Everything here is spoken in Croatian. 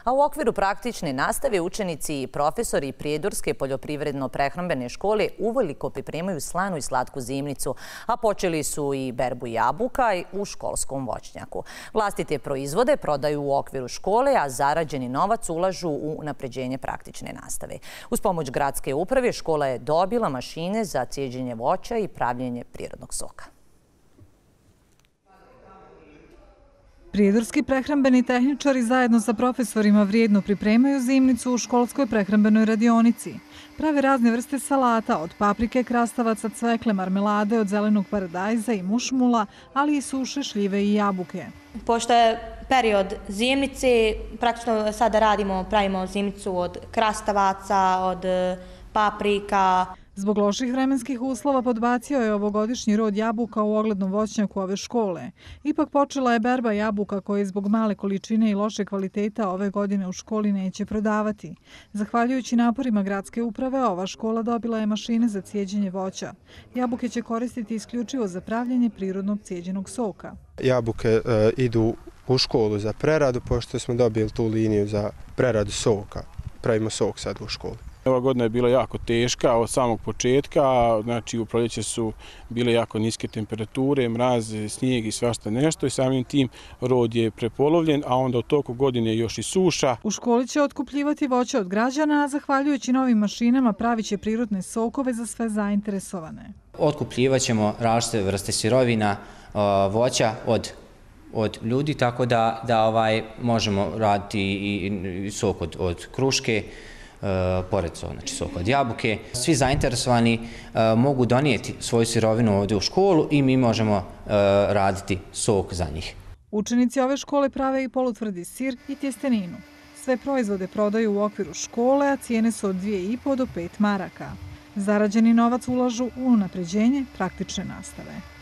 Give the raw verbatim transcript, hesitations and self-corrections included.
A u okviru praktične nastave učenici i profesori Prijedorske poljoprivredno-prehrambene škole uveliko pripremaju slanu i slatku zimnicu, a počeli su i berbu jabuka u školskom voćnjaku. Vlastite proizvode prodaju u okviru škole, a zarađeni novac ulažu u unapređenje praktične nastave. Uz pomoć gradske uprave škola je dobila mašine za cijeđenje voća i pravljenje prirodnog soka. Prijedorski prehrambeni tehničari zajedno sa profesorima vrijedno pripremaju zimnicu u školskoj prehrambenoj radionici. Prave razne vrste salata, od paprike, krastavaca, cvekle, marmelade, od zelenog paradajza i mušmula, ali i suše, šljive i jabuke. Pošto je period zimnice, praktično sada radimo, pravimo zimnicu od krastavaca, od paprika. Zbog loših vremenskih uslova podbacio je ovogodišnji rod jabuka u oglednom voćnjaku ove škole. Ipak počela je berba jabuka koje zbog male količine i loše kvaliteta ove godine u školi neće prodavati. Zahvaljujući naporima gradske uprave, ova škola dobila je mašine za cijeđenje voća. Jabuke će koristiti isključivo za pravljenje prirodnog cijeđenog soka. Jabuke e, idu u školu za preradu, pošto smo dobili tu liniju za preradu soka. Pravimo sok sad u školi. Ova godina je bila jako teška od samog početka, znači u proljeće su bile jako niske temperature, mraz, snijeg i svašta nešto i samim tim rod je prepolovljen, a onda u toku godine još i suša. U školi će otkupljivati voće od građana, a zahvaljujući novim mašinama pravit će prirodne sokove za sve zainteresovane. Otkupljivat ćemo različite vrste sirovina, voća od od ljudi, tako da, da ovaj, možemo raditi i, i sok od, od kruške, Uh, pored znači sok od jabuke. Svi zainteresovani uh, mogu donijeti svoju sirovinu ovdje u školu i mi možemo uh, raditi sok za njih. Učenici ove škole prave i polutvrdi sir i tjesteninu. Sve proizvode prodaju u okviru škole, a cijene su od dvije i po do pet maraka. Zarađeni novac ulažu u unapređenje praktične nastave.